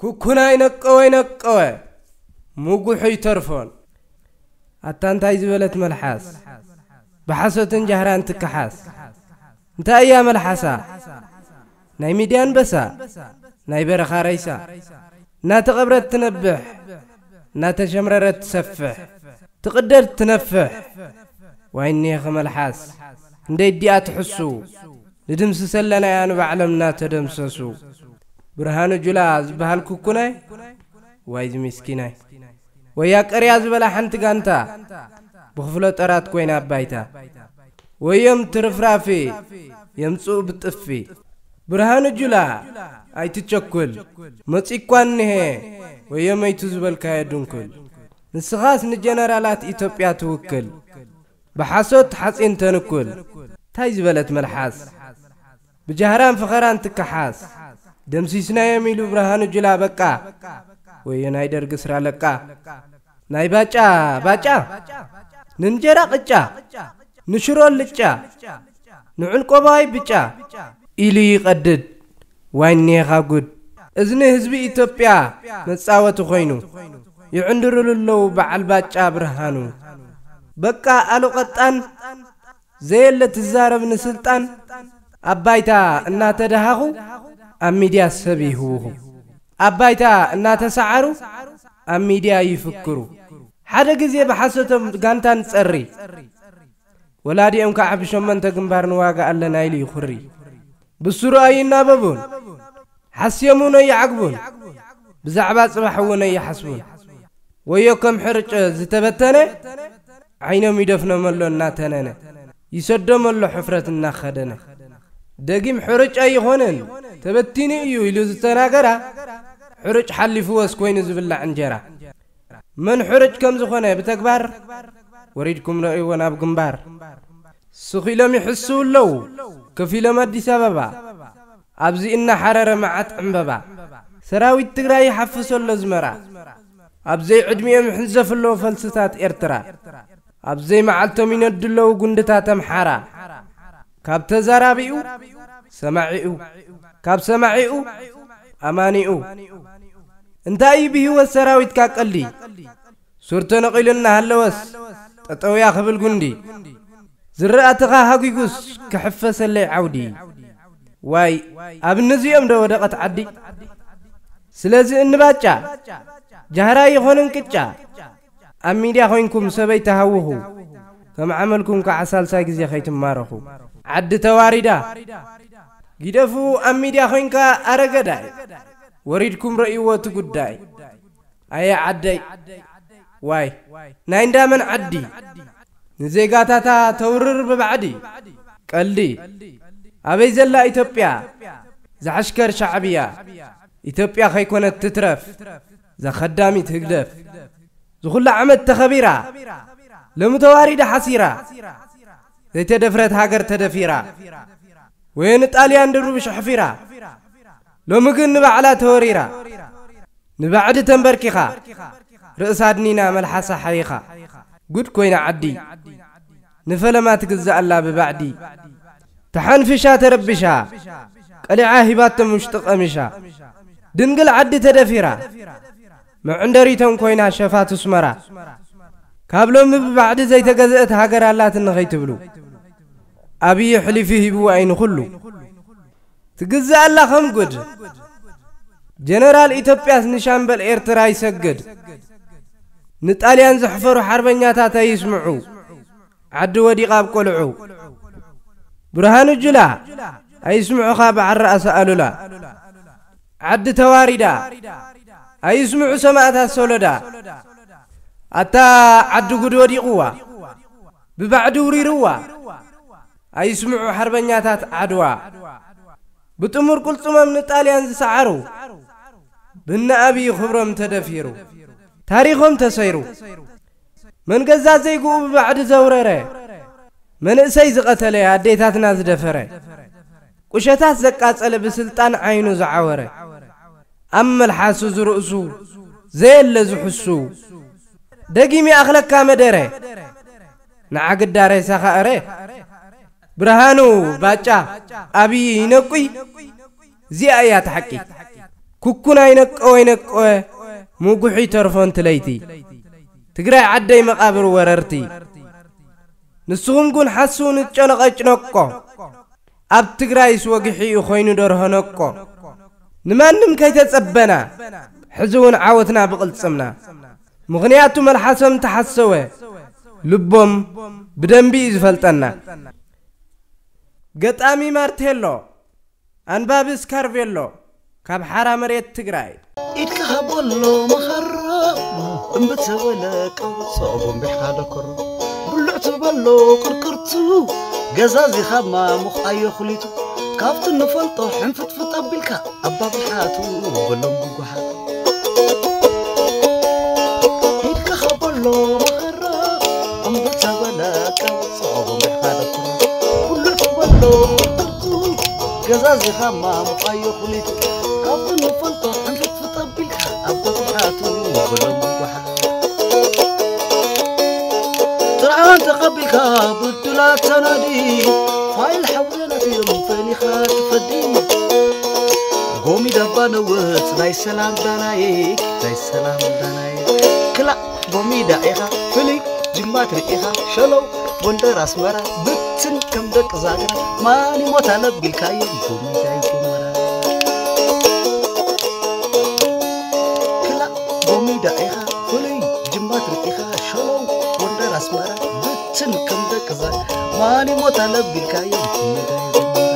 ኩኩናይ ነቀወ ይነቀወ፣ ምጉሑ ይተርፎን። ኣታ እንታይ ዝበለት መልሓስ፣ ብሓሶትን ጃህራን ትከሓስ። እንታይ እያ መልሓሳ? ናይ ሚድያ ኣንበሳ፣ ናይ በረኻ ረይሳ። እናተቐብረት ትነብሕ፣ እናተሸምረረት ትሰፍሕ፣ ትቕደድ ትነፍሕ። ዋይ እኒኻ መልሓስ፣ ክንደይ እዲኣ ትሕሱ፣ ንድምስሰለና እያ ንባዕሎም እናተደምሰሱ። ብርሃኑ ጁላ ዝበሃል ኩኩናይ፣ ዋይ እዚ ምስኪናይ። ወያ ቀርያ ዝበላ ሓንቲ ጋንታ፣ ብኽፍለ ጠራት ኮይና ኣባይታ። ወዮም ትርፍራፊ፣ የምጽኡ ብጥፊ። ብርሃኑ ጁላ፣ ኣይትቸኩል፣ መጺኳ እኒሄ፣ ወዮ መይቱ ዝበልካዮ ድንኩል። ንስኻስ ንጀነራላት ኢትዮጵያ ትውክል፣ ብሓሶት ሓጺን ተንኩል። እንታይ ዝበለት መልሓስ፣ ብጃህራን ፍኸራን ትከሓስ። ደምሲስናዮም ኢሉ ብርሃኑ ጁላ በቃ፣ ወዮ ናይ ደርጊ ስራ ለቃ። ናይ ባጫ ባጫ፣ ንእንጀራ ቅጫ፣ ንሽሮ ልጫ፣ ንዕንቆባይ ብጫ ኢሉ ይቐድድ። ዋይ እኒኻ ጉድ፣ እዝኒ ህዝቢ ኢትዮጵያ መጻወቲ ኮይኑ፣ ይዕንድሩሉ ኣለዉ በዓል ባጫ ብርሃኑ። በቃ ኣሉ ቀጣን፣ ዘየለ ትዛረብ ንስልጣን፣ ኣብ ባይታ እናተደሃኹ፣ ኣብ ሚድያ ሰብ ይህውኹ። ኣብ ባይታ እናተሰዓሩ፣ ኣብ ሚድያ ይፍክሩ። ሓደ ግዜ ብሓሶቶም ጋንታ ንጸሪ፣ ወላዲኦም ከዓ ብሸመንተ ግንባር ንዋጋ ኣለና ኢሉ ይኹሪ። ብስሩ ኣይናበቡን፣ ሓስዮም እውን ኣይዓግቡን፣ ብዛዕባ ጽባሕ እውን ኣይሓስቡን። ወዮ ከም ሕርጭ ዝተበተነ፣ ዓይኖም ይደፍኖም ኣሎ እናተነነ፣ ይሰዶም ኣሎ ሕፍረት እናኸደነ። ደጊም ሕርጭ ኣይኾንን፣ ተበቲኑ እዩ ኢሉ ዝተናገራ፣ ሕርጭ ሓሊፍዎስ ኮይኑ ዝብላዕ እንጀራ። መን ሕርጭ ከም ዝኾነ ብተግባር፣ ወሪድኩም ረእይዎ ናብ ግንባር። ስኽ ኢሎም ይሕስው ኣለዉ፣ ከፊሎም ኣዲስ ኣበባ። ኣብዚ እናሓረረ መዓት ዕምበባ። ሰራዊት ትግራይ ይሓፍሶ ኣሎ ኣዝመራ። ኣብ ዘይዕድሚኦም ይሕንዘፍ ኣለዉ ፈልስታት ኤርትራ። ኣብ ዘይመዓልቶም ይነዱ ኣለዉ ጉንድታት ኣምሓራ። ካብ ተዛራቢኡ ሰማዒኡ፣ ካብ ሰማዒኡ ኣማኒኡ። እንታይ እዩ ብህይወት ሰራዊትካ ቀልዲ? ሱር ተነቒሉ እናሃለወስ ጠጠውያ ክብል ጉንዲ። ዝረኣትኻ ሃጒጉስ ክሕፈሰለይ ዓውዲ። ዋይ፣ ኣብ እነዚኦም ዶ ወደቐት ዓዲ? ስለዚ እንባጫ፣ ጃህራ ይኾንን ቅጫ። ኣብ ሚድያ ኮይንኩም ሰበይ ተሃውኹ፣ ከም ዓመልኩም ከዓ ሳልሳይ ግዜ ከይትማረኹ። ዓዲ ተዋሪዳ፣ ጊደፉ ኣብ ሚድያ ኮይንካ ኣረገዳይ። ወሪድኩም ረእይዎ እቲ ጉዳይ። ኣየ ዓደይ፣ ዋይ፣ ናይ እንዳመን ዓዲ? ንዜጋታታ ተውርር ብባዕዲ። ቀልዲ። ኣበይ ዘላ ኢትዮጵያ? ዝዓሽከር ሻዕብያ። ኢትዮጵያ ከይኮነት ትትረፍ፣ ዘኸዳሚት ህግደፍ። ዝኹላ ዓመት ተኸቢራ፣ ሎሚ ተዋሪዳ ሓሲራ። ዘይተደፍረት ሃገር ተደፊራ። ወዮ ንጣልያን ድሩብሽ ኣሕፊራ። ሎሚ ግን ንባዕላ ተወሪራ። ንባዕዲ ተንበርኪኻ፣ ርእሳ ኣድኒና መልሓሳ ሓይኻ። ጉድ ኮይና ዓዲ፣ ንፈለማ ትግዛእ ኣላ ብባዕዲ። ተሓንፊሻ ተረቢሻ፣ ቀሊዓ ሂባቶም ውሽጢ ቀሚሻ። ድንግል ዓዲ ተደፊራ፣ መዕንደሪቶም ኮይና ሸፋቱ ኣስመራ። ካብ ሎሚ ብባዕዲ ዘይተገዝአት ሃገር ኣላትኒ ከይትብሉ፣ ኣብዪ ሕሊፉ ሂብዋ እዩ ንኹሉ። ትግዛእ ኣላ ከም ጉድ። ጀነራል ኢትዮጵያስ ንሻምበል ኤርትራ ይሰግድ። ንጣልያን ዘሕፈሩ ሓርበኛታት ኣይስምዑ፣ ዓዲ ወዲቓ ኣብ ቆልዑ። ብርሃኑ ጁላ ኣይስምዑኻ በዓል ራእሲ ኣሉላ። ዓዲ ተዋሪዳ ኣይስምዑ ሰማእታት ሶሎዳ። ኣታ ዓዲ ጉድ ወዲቕዋ፣ ብባዕዲ ውሪርዋ። ኣይስምዑ ሓርበኛታት ዓድዋ፣ ብጥሙር ቅልጽሞም ንጣልያን ዝሰዓሩ። ብነ ኣብዪ ክብሮም ተደፊሩ፣ ታሪኾም ተሰይሩ። መን ገዛ ዘይግኡ ብባዕዲ ዘውረረ፣ መንእሰይ ዝቐተለ፣ ኣዴታትና ዝደፈረ፣ ቁሸታት ዘቃጸለ፣ ብስልጣን ዓይኑ ዝዓወረ፣ ኣብ መልሓሱ ዝርእሱ ዘየለ ዝሕሱ። ደጊም ይኣኽለካ መደረ፣ ንዓግዳ ሬሳኻ እረ። ብርሃኑ ባጫ ኣብይ ይነቁይ። እዚኣ እያ እቲ ሓቂ። ኩኩን ኣይነቀወ ኣይነቀወ፣ ምጉሑ ይተርፎ እንት ለይቲ። ትግራይ ዓደይ መቓብር ወረርቲ። ንስኹም ግን ሓስው ንጨነቐጭነቆ። ኣብ ትግራይስ ወግሒኡ ኮይኑ ደርሆ ነቆ። ንማንም ከይተጸበና፣ ሕዚ እውን ዓወትና ብቕልጽምና። ምኽንያቱ መልሓሶም ተሓሰወ፣ ልቦም ብደንቢ እዩ ዝፈልጠና። ገጣሚ ማርቴሎ፣ ኣንባቢ ስካርቬሎ፣ ካብ ሓራ መሬት ትግራይ። ኢድካ ሃቦሎ መኸራ፣ እምቢ ተበለ ቀውጾ ጎንቢሕካ ደኮሮ። ብሉዕ ትበሎ ቅርቅርቱ፣ ገዛዚኻ ማሙኽ ኣዮ ኩሊቱ። ካብቲ ንፈልጦ ሕንፍጥፍጥ ኣቢልካ፣ ኣባብሓቱ በሎም ብጓሓት። ኢድካ ሃቦሎ መኸራ፣ እምቢ ተበለ ቀውጾ ጎንቢሕካ ደኮሮ። ብሉዕ ትበሎ ቅርቅርቱ፣ ገዛዚኻ ማሙቕ ኣዮ ኩሊቱ። ካብቲ ንፈልጦ ሕንፍጥፍጥ ኣቢልካ፣ ኣባብሓቱ በሎም ብጓሓት። ጥርዓን ተቐቢልካ ብድላት ተናዲ፣ ፋይል ሓውዘናት እዮም ፈኒኻ ትፈዲ። ጎሚዳ እባ ነውጽ ናይ ሰላም ዳናይክ፣ ናይ ሰላም ዳናይክ። ክላእ ጎሚዳ ኢኻ ፍልይ ጅማት ርኢኻ ሸለው ጎንደር ኣስመራ ብትን ከም ደቂ ዛግራ ማን ይሞት ኣለቢልካዮም ጎሚዳ ይጎመራ። ክላእ ጎሚዳ ኢኻ ፍልይ ጅማት ርኢኻ ሸለው ጎንደር ኣስመራ ብትን ከም ደቂ ዛግራ ማን ይሞት ኣለቢልካዮም ጎሚዳ ይጎመራ።